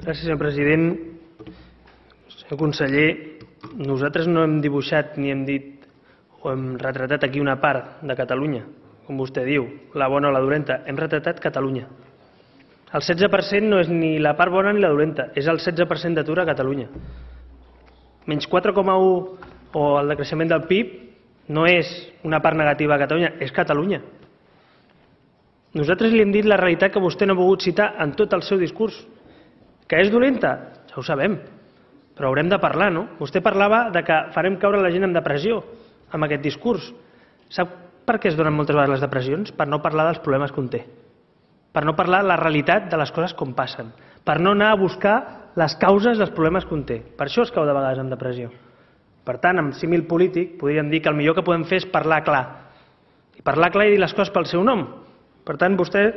Gràcies, senyor president. Senyor conseller, nosaltres no hem dibuixat ni hem dit o hem retratat aquí una part de Catalunya, com vostè diu, la bona o la dolenta. Hem retratat Catalunya. El 16% no és ni la part bona ni la dolenta, és el 16% d'atur a Catalunya. Menys 4,1 o el decreixement del PIB no és una part negativa a Catalunya, és Catalunya. Nosaltres li hem dit la realitat que vostè no ha volgut citar en tot el seu discurs. Que és dolenta? Ja ho sabem, però haurem de parlar, no? Vostè parlava de que farem caure la gent en depressió amb aquest discurs. Sap per què es donen moltes vegades les depressions? Per no parlar dels problemes que un té. Per no parlar la realitat de les coses com passen. Per no anar a buscar les causes dels problemes que un té. Per això es cau de vegades en depressió. Per tant, amb símil polític, podríem dir que el millor que podem fer és parlar clar. I parlar clar i dir les coses pel seu nom. Per tant, vostè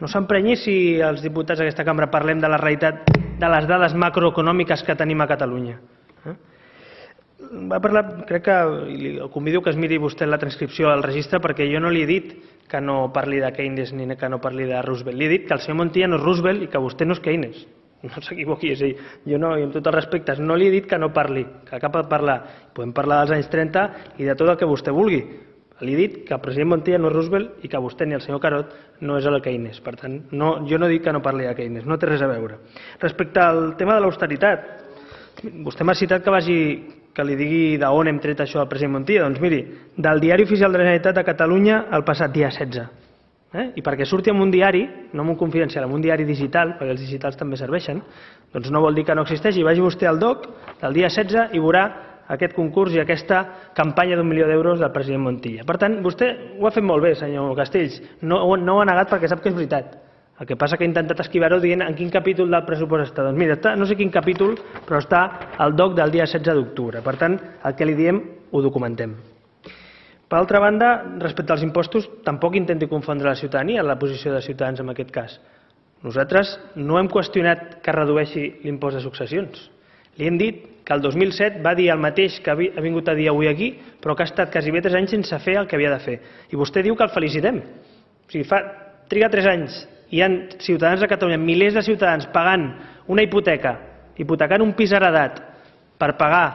no s'emprenyi si els diputats d'aquesta cambra parlem de la realitat de les dades macroeconòmiques que tenim a Catalunya. Va parlar, crec que el convido que es miri vostè la transcripció al registre, perquè jo no li he dit que no parli de Keynes ni que no parli de Roosevelt. Li he dit que el senyor Montilla no és Roosevelt i que vostè no és Keynes. No s'equivoqui, és a dir, jo no, i amb tots els respectes, no li he dit que no parli, que cap de parlar. Podem parlar dels anys 30 i de tot el que vostè vulgui. Li he dit que el president Montilla no és Roosevelt i que vostè ni el senyor Carod no és el Keynes. Per tant, jo no dic que no parli de Keynes, no té res a veure. Respecte al tema de l'austeritat, vostè m'ha citat que li digui d'on hem tret això al president Montilla. Doncs miri, del Diari Oficial de la Generalitat de Catalunya el passat dia 16. I perquè surti en un diari, no en un confidencial, en un diari digital, perquè els digitals també serveixen, doncs no vol dir que no existeixi. Vagi vostè al DOC del dia 16 i veurà aquest concurs i aquesta campanya d'1 milió d'euros del president Montilla. Per tant, vostè ho ha fet molt bé, senyor Castells. No ho ha negat perquè sap que és veritat. El que passa que ha intentat esquivar-ho dient en quin capítol del pressupost està. Doncs mira, està, no sé quin capítol, però està al DOC del dia 16 d'octubre. Per tant, el que li diem ho documentem. Per altra banda, respecte als impostos, tampoc intenti confondre la ciutadania en la posició de Ciutadans en aquest cas. Nosaltres no hem qüestionat que redueixi l'impost de successions. Li hem dit que el 2007 va dir el mateix que ha vingut a dir avui aquí, però que ha estat quasi 3 anys sense fer el que havia de fer. I vostè diu que el felicitem. O sigui, triga 3 anys i hi ha ciutadans de Catalunya, milers de ciutadans pagant una hipoteca, hipotecant un pis heredat per pagar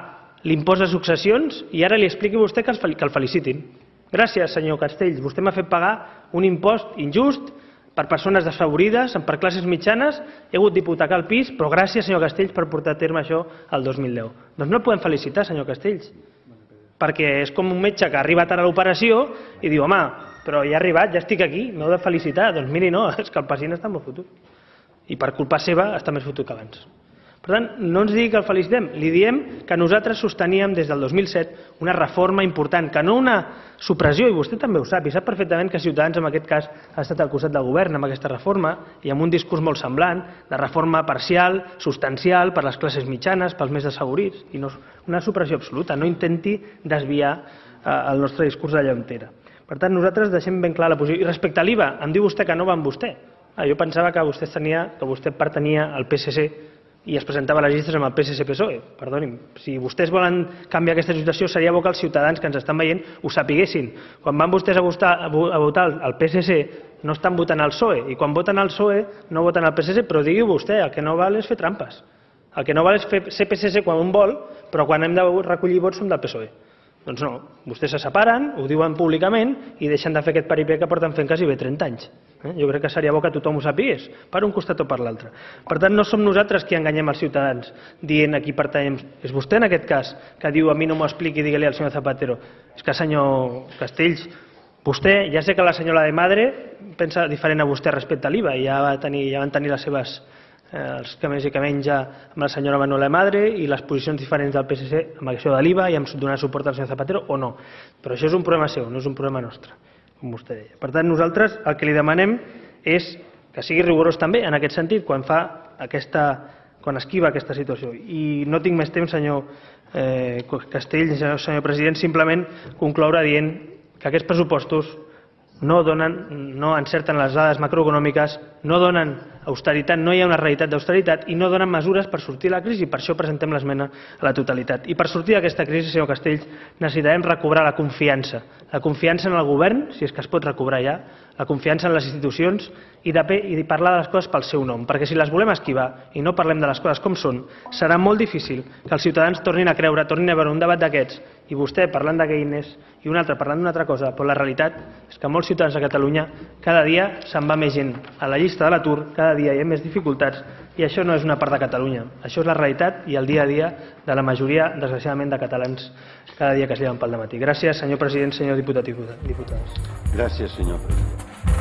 l'impost de successions, i ara li expliqui vostè que el felicitin. Gràcies, senyor Castells. Vostè m'ha fet pagar un impost injust per persones desfavorides, per classes mitjanes. He hagut d'hipotecar el pis, però gràcies, senyor Castells, per portar a terme això el 2010. Doncs no el podem felicitar, senyor Castells, perquè és com un metge que arriba tard a l'operació i diu, home, però ja he arribat, ja estic aquí, m'heu de felicitar. Doncs miri, no, és que el pacient està molt fotut. I per culpa seva està més fotut que abans. Per tant, no ens digui que el felicitem, li diem que nosaltres sosteníem des del 2007 una reforma important, que no una supressió, i vostè també ho sap, i sap perfectament que Ciutadans en aquest cas ha estat al costat del govern amb aquesta reforma i amb un discurs molt semblant, de reforma parcial, substancial, per les classes mitjanes, pels més desfavorits, i no una supressió absoluta. No intenti desviar el nostre discurs d'allà on era. Per tant, nosaltres deixem ben clar la posició. I respecte a l'IVA, em diu vostè que no va amb vostè. Jo pensava que vostè pertanyia al PSC i es presentava a les llistes amb el PSC-PSOE. Perdoni'm, si vostès volen canviar aquesta situació, seria bo que els ciutadans que ens estan veient ho sapiguessin. Quan van vostès a votar el PSC, no estan votant el PSOE, i quan voten el PSOE no voten el PSC, però digui vostè, el que no val és fer trampes. El que no val és ser PSC quan un vol, però quan hem de recollir vots som del PSOE. Doncs no, vostès se separen, ho diuen públicament i deixen de fer aquest paripé que porten fent quasi 30 anys. Jo crec que seria bo que tothom ho sapigués, per un costat o per l'altre. Per tant, no som nosaltres qui enganyem els ciutadans dient a qui pertanyem. És vostè, en aquest cas, que diu a mi no m'ho expliqui, digue-li al senyor Zapatero. És que, senyor Castells, vostè, ja sé que la senyora de Madre pensa diferent a vostè respecte a l'IVA, i ja van tenir les seves els que més i que menja amb la senyora Manuela de Madre i les posicions diferents del PSC amb això de l'IVA i amb donar suport al senyor Zapatero o no. Però això és un problema seu, no és un problema nostre, com vostè deia. Per tant, nosaltres el que li demanem és que sigui rigorós també en aquest sentit quan esquiva aquesta situació. I no tinc més temps, senyor Castells, senyor president, simplement concloure dient que aquests pressupostos no encerten les dades macroeconòmiques, no donen austeritat, no hi ha una realitat d'austeritat i no donen mesures per sortir de la crisi. Per això presentem l'esmena a la totalitat. I per sortir d'aquesta crisi, senyor Castells, necessitarem recobrar la confiança en el govern, si és que es pot recobrar ja, la confiança en les institucions i parlar de les coses pel seu nom, perquè si les volem esquivar i no parlem de les coses com són, serà molt difícil que els ciutadans tornin a creure, tornin a veure un debat d'aquests i vostè parlant de Keynes i un altre parlant d'una altra cosa, però la realitat és que molts ciutadans de Catalunya cada dia se'n va més gent a la llista de l'atur, cada dia hi ha més dificultats i això no és una part de Catalunya, això és la realitat i el dia a dia de la majoria, desgraciadament, de catalans cada dia que es lleven pel dematí. Gràcies, senyor president, senyor diputat i diputades. Gràcies, senyor president.